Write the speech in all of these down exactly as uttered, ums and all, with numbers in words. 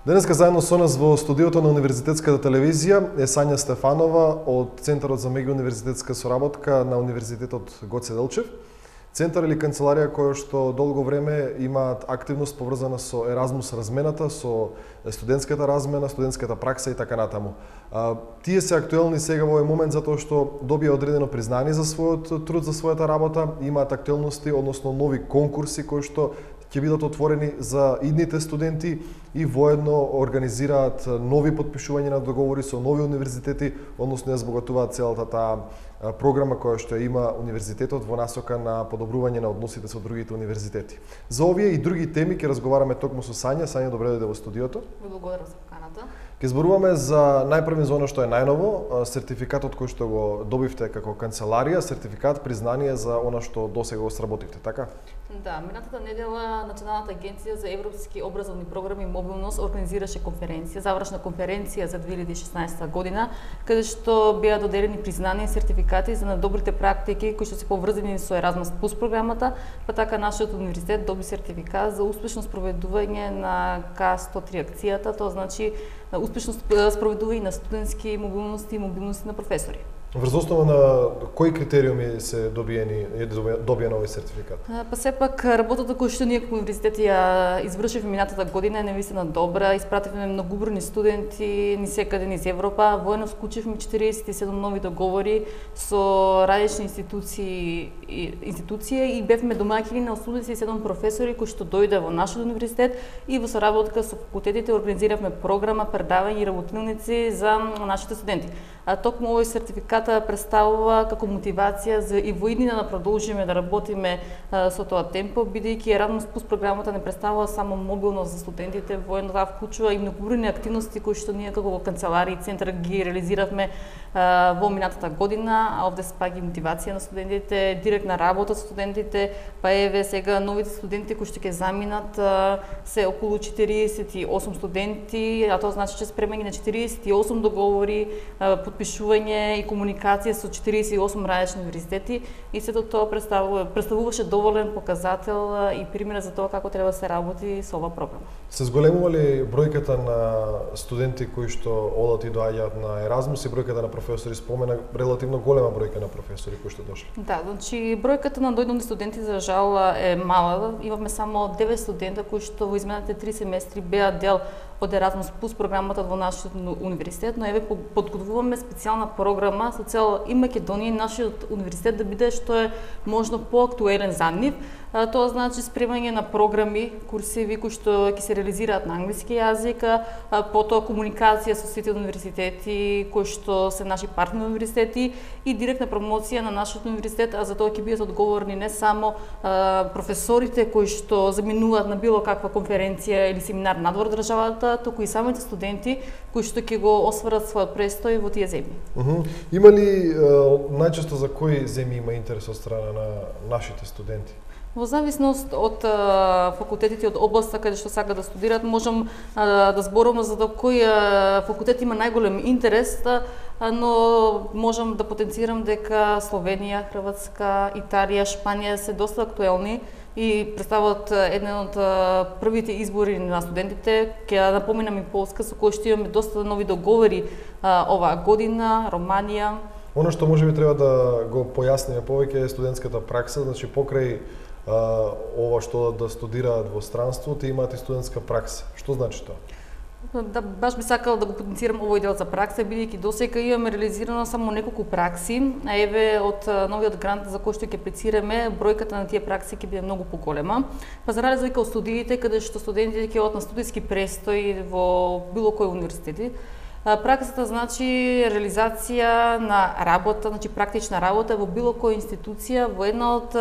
Денеска заедно со нас во студиото на Универзитетската телевизија е Сања Стефанова од Центарот за меѓууниверзитетска соработка на Универзитетот Гоце Делчев. Центар или канцеларија која што долго време имаат активност поврзана со Еразмус размената, со студентската размена, студентската пракса и така натаму. А, тие се актуелни сега во овој момент затоа што добија одредено признание за својот труд, за својата работа, имаат актуелности, односно нови конкурси кои што ќе бидат отворени за идните студенти и воедно организираат нови потпишувања на договори со нови универзитети, односно ја збогатуваат целата таа програма која што има универзитетот во насока на подобрување на односите со другите универзитети. За овие и други теми ќе разговараме токму со Сања. Сања, добре дојде во студиото. Благодарам за поканата. Ќе зборуваме за најпрви за она што е најново, сертификатот кој што го добивте како канцеларија, сертификат признание за она што досега го сработивте, така? Да, минатата недела Националната агенција за европски образовни програми и мобилност организираше конференција, завршна конференција за две илјади и шеснаесета година, каде што беа доделени признания и сертификати за добрите практики кои што се поврзани со Еразмус плюс програмата, па така нашиот универзитет доби сертификат за успешно спроведување на К сто три акцијата, тоа значи успешно спроведување на студентски мобилности и мобилности на професори. Врз основа на кои критериуми се добиени е добиен овој сертификат? Па сепак работата која што ние како универзитет ја извршивме минатата година е навистина добра, испративме многубројни студенти ни секаде низ Европа, воедно склучивме четириесет и седум нови договори со различни институции институции и бевме домаќини на осумдесет и седум професори кои што дојде во нашиот универзитет и во соработка со факултетите организиравме програма, предавања и работилници за нашите студенти. А токму овој сертификат представува како мотивација за и во иднина да продолжиме да работиме а, со тоа темпо, бидејќи Еразмус плюс програмата не представува само мобилност за студентите, воедно таа вклучува и многобројни активности кои што ние како канцеларија и центар ги реализиравме а, во минатата година, а овде спаѓа мотивација на студентите, директна работа со студентите, па еве сега новите студенти кои што ќе заминат а, се околу четириесет и осум студенти, а тоа значи че спремање на четириесет и осум договори, а, подпишување и комуникација со четириесет и осум различни универзитети и сето тоа представува, представуваше доволен показател и пример за тоа како треба да се работи со оваа програма. Се зголемува ли бројката на студенти кои што одат и доаѓаат на Еразмус и бројката на професори? Спомена релативно голема бројка на професори кои што дошли. Да, значи бројката на дојдени студенти за жал е мала. Имавме само девет студента кои што во изминатите три семестри беа дел од Еразмус плюс програмата во нашиот универзитет, но еве подготвуваме специјална програма со цел и Македонија и нашиот универзитет да биде што е можно поактуелен за нив. Тоа значи спремање на програми, курсеви кои што ќе се реализираат на англиски јазик, потоа комуникација со сите универзитети кои што се наши партнери универзитети и директна промоција на нашиот универзитет, а за тоа ќе бидат одговорни не само а, професорите кои што заминуваат на било каква конференција или семинар надвор државата, туку и самите студенти кои што ќе го осварат својот престој во тие земји. Uh -huh. Има ли најчесто за кои земји има интерес од страна на нашите студенти? Во зависност од а, факултетите, од областа каде што сака да студираат, можам а, да зборувам за да кој а, факултет има најголем интерес, а, но можам да потенцирам дека Словенија, Хрватска, Италија, Шпанија се доста актуелни и представуваат еден од првите избори на студентите. Ќе напоменам и Полска, со која што имаме доста нови договори а, оваа година, Романија. Оно што можеби треба да го појасниме повеќе е студентската пракса, значи покрај Uh, ова што да студираат во странство, те имаат и студентска пракса. Што значи тоа? Да, баш би сакала да го потенцирам овој дел за пракса, бидејќи досега имаме реализирано само неколку пракси, а еве од новиот грант за кој што ќе аплицираме, бројката на тие пракси ќе биде многу поголема. Па за разлика од студиите, каде што студентите ќе одат на студиски престој во било кој универзитети, праксата значи реализација на работа, значи практична работа во било која институција во една од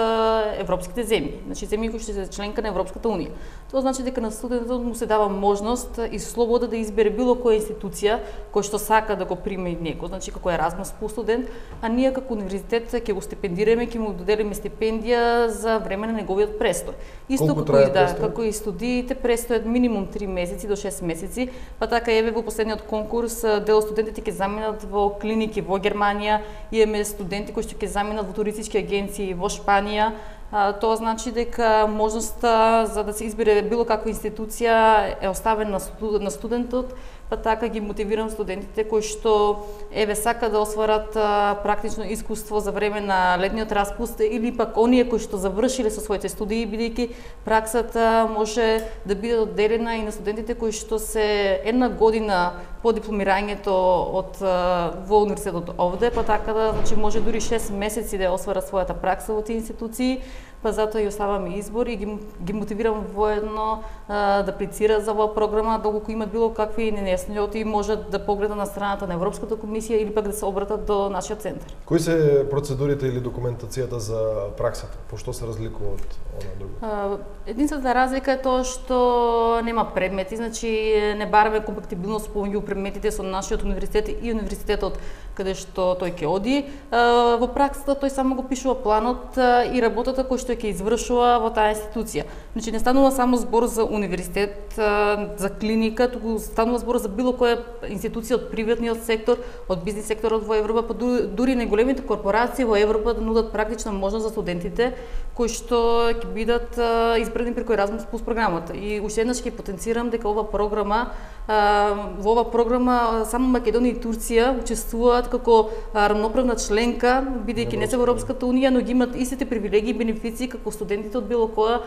европските земји, значи земји кои што се членка на Европската унија. Тоа значи дека на студентот му се дава можност и слобода да избере било која институција која што сака да го приме него, значи како Еразмус плюс студент, а ние како универзитет ќе го стипендираме, ќе му доделиме стипендија за време на неговиот престој. Исто како и да, како и студиите, престојот минимум три месеци до шест месеци, па така еве во последниот конкурс дел студентите ќе заминат во клиники во Германија, имаме студенти кои што ќе заминат во туристички агенции во Шпанија, Тоа значи дека можноста за да се избере било каква институција е оставена на студентот, па така ги мотивирам студентите кои што еве сака да осварат практично искуство за време на летниот распуст или пак оние кои што завршиле со своите студии, бидејќи праксата може да биде одделена и на студентите кои што се една година по дипломирањето од во универзитетот овде, па така да значи може дури шест месеци да осварат својата пракса во тие институции, па затоа и оставам избор и ги, ги мотивирам воедно а, да аплицираат за оваа програма, доколку имат било какви нејасноти можат да погледат на страната на Европската комисија или пак да се обратат до нашиот центар. Кои се процедурите или документацијата за праксата? По што се разликува од она друго? Единствената разлика е тоа што нема предмети, значи не бараме компатибилност помеѓу предметите со нашиот универзитет и универзитетот каде што тој ќе оди. Во праксата тој само го пишува планот и работата кој што ќе извршува во таа институција. Значи не станува само збор за универзитет, за клиника, туку станува збор за било која институција од приватниот сектор, од бизнис секторот во Европа, па дури најголемите корпорации во Европа да нудат практична можност за студентите кои што ќе бидат избрани преку Erasmus Plus програмата. И уште еднаш ќе потенцирам дека ова програма во оваа програма само Македонија и Турција учествуваат како рамноправна членка, бидејќи не се во Европската унија, но ги имат истите привилегии и бенефиции како студентите од било која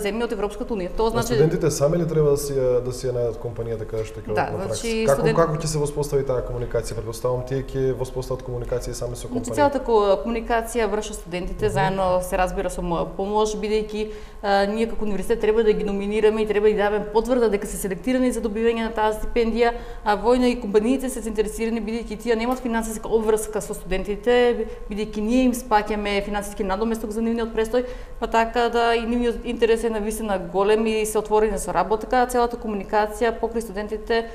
земја од Европската унија. Тоа значи студентите сами ли треба да си да си најдат компанијата каде што ќе да, одат на пракса? Значи, како студент... како ќе се воспостави таа комуникација? Претпоставам тие ќе воспостават комуникација сами со компанијата. Значи целата комуникација вршат студентите, uh -huh. заедно се разбира со моја помош, бидејќи ние како универзитет треба да ги номинираме и треба да дадеме потврда дека се селектирани за добивање на таа стипендија, а војно и компаниите се заинтересирани бидејќи тие немаат финансиска обврска со студентите, бидејќи ние им спаќаме финансиски надоместок за нивниот престој, па така да и нивниот интерес е навистина голем и се отворени со работа. Целата комуникација покрај студентите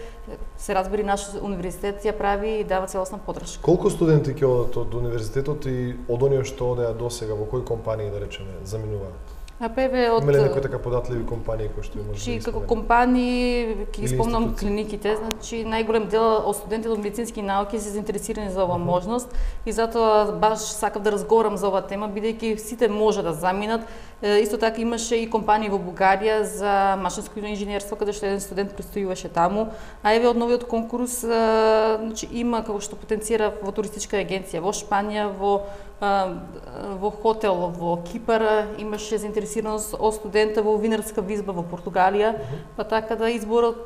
се разбери наш универзитет ја прави и дава целосна поддршка. Колку студенти ќе одат од универзитетот и од оние што одеа досега во кои компании да речеме заминуваат? А певе од Има ли некои така податливи компании кои што може Чи да како компании ќе спомнам клиниките, значи најголем дел од студентите од медицински науки се заинтересирани за оваа можност и затоа баш сакав да разговарам за оваа тема бидејќи сите може да заминат. Исто така имаше и компании во Бугарија за машинско инженерство каде што еден студент престојуваше таму, а еве од новиот конкурс значи има како што потенцира во туристичка агенција во Шпанија, во во хотел во Кипар имаше заинтересираност од студента во винарска визба во Португалија, па така да изборот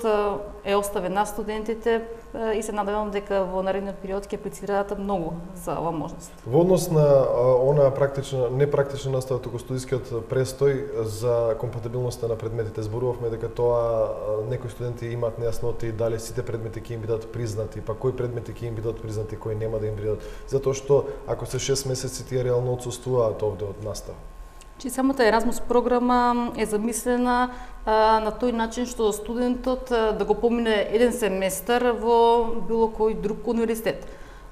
е оставен на студентите и се надевам дека во наредниот период ќе аплицираат многу за оваа можност. Во однос на она практична, не практична настава, туку студискиот престој за компатибилноста на предметите, зборувавме дека тоа некои студенти имаат нејасноти дали сите предмети ќе им бидат признати, па кои предмети ќе им бидат признати, кои нема да им бидат, затоа што ако се шест месеци тие реално отсуствуваат овде од настава. Чи самата Erasmus програма е замислена а, на тој начин што студентот а, да го помине еден семестар во било кој друг универзитет.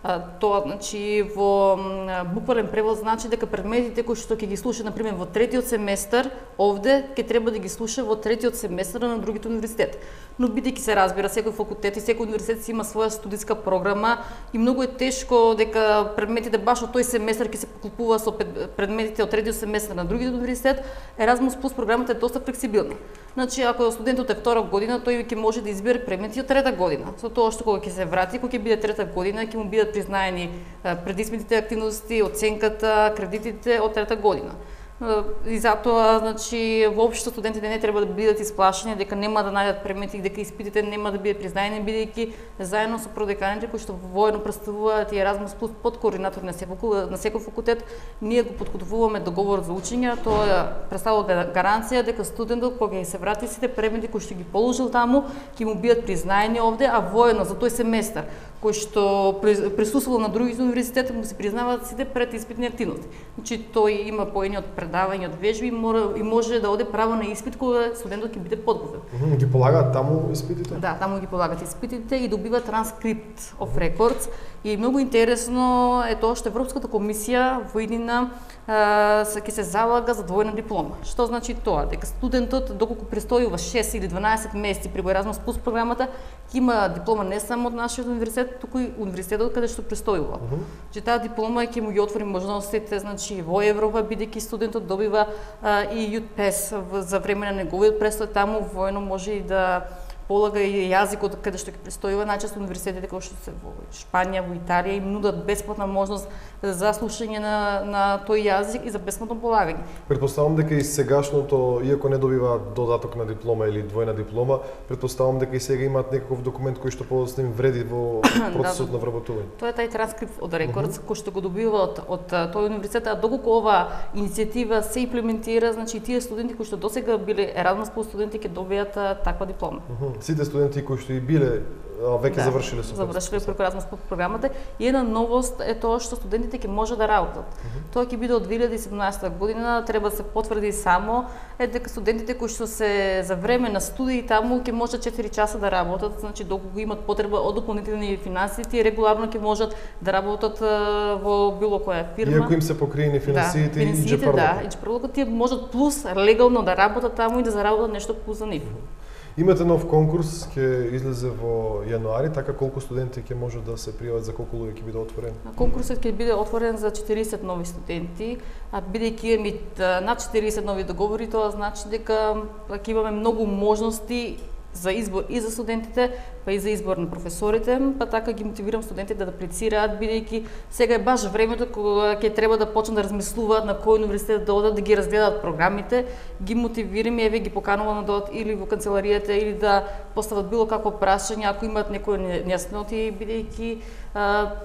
А, тоа значи во м, буквален превод значи дека предметите кои што ќе ги слуша на пример во третиот семестар овде ќе треба да ги слуша во третиот семестар на другите универзитет. Но бидејќи се разбира секој факултет и секој универзитет има своја студиска програма и многу е тешко дека предметите баш од тој семестар ќе се поклопува со предметите од третиот семестар на другиот универзитет. Erasmus Plus програмата е доста флексибилна. Значи ако студентот е втора година, тој ќе може да избере предмети од трета година. Со тоа што кога ќе се врати, кога ќе биде трета година, ќе му бидат признаени предиспитните активности, оценката, кредитите од трета година. И затоа, значи, воопшто студентите не треба да бидат исплашени дека нема да најдат предмети, дека испитите нема да бидат признаени, бидејќи заедно со продеканите кои што воено представуваат и Erasmus Plus под координатор на секој на секој факултет, ние го подготвуваме договор за учење. Тоа представува гаранција дека студентот кога ќе се врати сите предмети кои што ги положил таму ќе му бидат признаени овде, а воено за тој семестар кој што присуствувал на други универзитети му се признаваат сите предиспитни активности. Значи тој има поени од предавање, од вежби и, мора, и може да оде право на испит кога студентот ќе биде подготвен. Ги полагаат таму испитите? Да, таму ги полагат испитите и добива транскрипт of records. И многу интересно е тоа што Европската комисија во иднина ќе се залага за двојна диплома. Што значи тоа? Дека студентот доколку престојува шест или дванаесет месеци при Erasmus Plus програмата, ќе има диплома не само од нашиот универзитет, туку и универзитетот каде што престојува. Uh -huh. Че таа диплома ќе му ги отвори можностите, значи во Европа, бидејќи студентот студентот добива а, и Youth Pass за време на неговиот престој таму, воено може и да полага и јазикот каде што ќе престојува. Најчесто универзитетите кои што се во Шпанија, во Италија им нудат бесплатна можност за слушање на на тој јазик и за бесплатно полагање. Претпоставам дека и сегашното, иако не добива додаток на диплома или двојна диплома, претпоставам дека и сега имаат некаков документ кој што подоцна им вреди во процесот да, на вработување. Тоа е тај транскрипт од Рекордс uh -huh. кој што го добива од од тој универзитет, а доколку ова иницијатива се имплементира, значи тие студенти кои што досега биле Еразмус плюс студенти ќе добијат таква диплома. Uh -huh. Сите студенти кои што и биле веќе да, завршиле со завршиле преку Еразмус плюс програмата, и една новост е тоа што студентите ќе може да работат. Uh -huh. Тоа ќе биде од две илјади и седумнаесета година, треба да се потврди само е дека студентите кои што се за време на студии таму ќе можат четири часа да работат, значи доколку имат потреба од дополнителни финансии, тие регуларно ќе можат да работат во било која фирма. Иако им се покриени финансиите, да, и джепарлокот. Да, и джепарлокот тие можат плюс легално да работат таму и да заработат нешто плюс за нив. Uh -huh. Имате нов конкурс, ќе излезе во јануари, така колку студенти ќе можат да се пријават, за колку луѓе ќе биде отворен? Конкурсот ќе биде отворен за четириесет нови студенти, а бидејќи имаме над четириесет нови договори, тоа значи дека ќе имаме многу можности за избор и за студентите, па и за избор на професорите, па така ги мотивирам студентите да аплицираат, бидејќи сега е баш времето кога ќе треба да почнат да размислуваат на кој универзитет да одат, да ги разгледаат програмите, ги мотивирам и еве ги поканувам да додат или во канцеларијата или да постават било какво прашање ако имаат некои нејасноти, бидејќи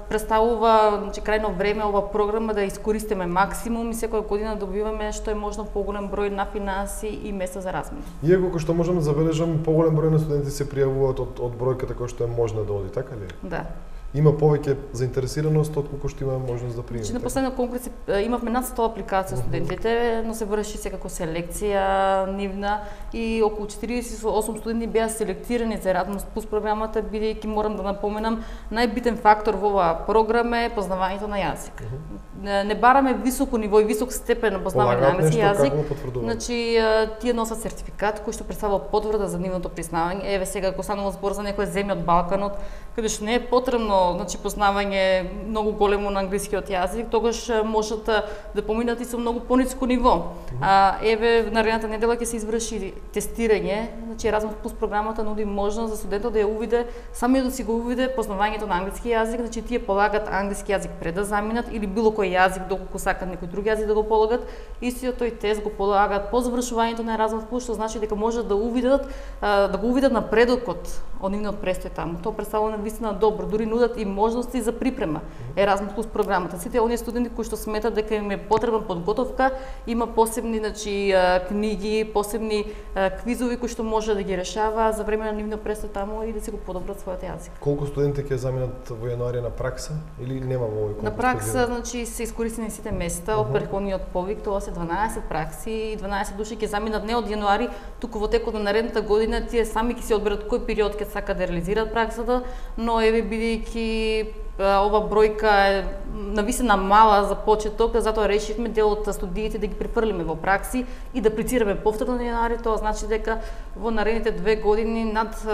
представува, значи крајно време ова програма да искористиме максимум и секоја година добиваме што е можно поголем број на финанси и места за размена. Иако кој што можам да забележам, поголем број на студенти се пријавуваат од, од бројката која што е можна да оди, така ли? Да. Има повеќе заинтересираност отколку што имаме можност да примиме. Значи на последниот конкурс имавме над сто апликации од студентите, но се врши секако селекција нивна и околу четириесет и осум студенти беа селектирани за Еразмус плюс програмата, бидејќи морам да напоменам, најбитен фактор во оваа програма е познавањето на јазик. Uh -huh. Не бараме високо ниво и висок степен на познавање на англиски јазик. Значи тие носат сертификат кој што представува потврда за нивното признавање. Еве сега ако станува збор за некоја земја од Балканот, каде што не е потребно значи познавање многу големо на англискиот јазик, тогаш можат да поминат и со многу пониско ниво. Uh -huh. А еве наредната недела ќе се изврши тестирање, значи Еразмус плюс програмата нуди можност за студентот да ја увиде, самиот да си го увиде познавањето на англиски јазик, значи тие полагат англиски јазик пред да заминат или било кој јазик доколку сакат некој друг јазик да го полагат, истиот тој тест го полагат по завршувањето на Еразмус плюс, што значи дека можат да увидат да го увидат напредокот од нивниот престој таму. Тоа представува навистина добро, дури нудат и можности за припрема Еразмус плюс програмата. Сите оние студенти кои што сметат дека им е потребна подготовка, има посебни значи книги, посебни квизови кои што може да ги решава за време на нивниот престој таму и да си го подобрат својот јазик. Колку студенти ќе заминат во јануари на пракса или нема во овој конкурс? На пракса значи се искористени сите места од претходниот повик, тоа се дванаесет пракси и дванаесет души ќе заминат не од јануари, туку во текот на наредната година тие сами ќе се одберат кој период ќе сакаат да реализираат праксата, но еве бидејќи ова бројка е навистина мала за почеток, затоа решивме дел од студиите да ги префрлиме во пракси и да аплицираме повторно на јануари. Тоа значи дека во наредните две години над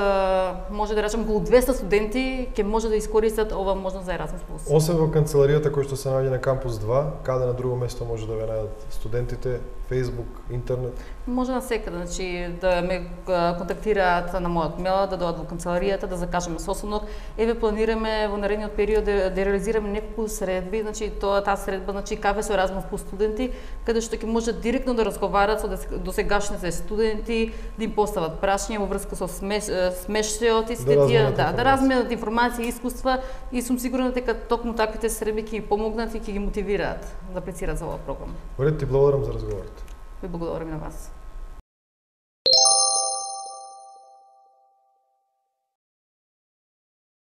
може да речем околу двесте студенти ќе може да искористат ова можност за Еразмус плюс. Освен во канцеларијата која што се наоѓа на кампус два, каде на друго место може да ве најдат студентите? Facebook, интернет? Може на секаде, значи да ме контактираат на мојот мејл, да дојдат во канцеларијата, да закажеме состанок. Еве планираме во наредниот период да, да реализираме неколку средби, значи тоа таа средба, значи кафе со Еразмус плюс студенти, каде што ќе можат директно да разговарат со досегашните студенти, да им постават прашања во врска со смеш, смештајот и сите тие, да, да разменат информации и искуства, и сум сигурна дека токму таквите средби ќе ги помогнат и ќе ги мотивираат да аплицираат за оваа програма. Во ред, ти благодарам за разговорот. Ви благодарам и на вас.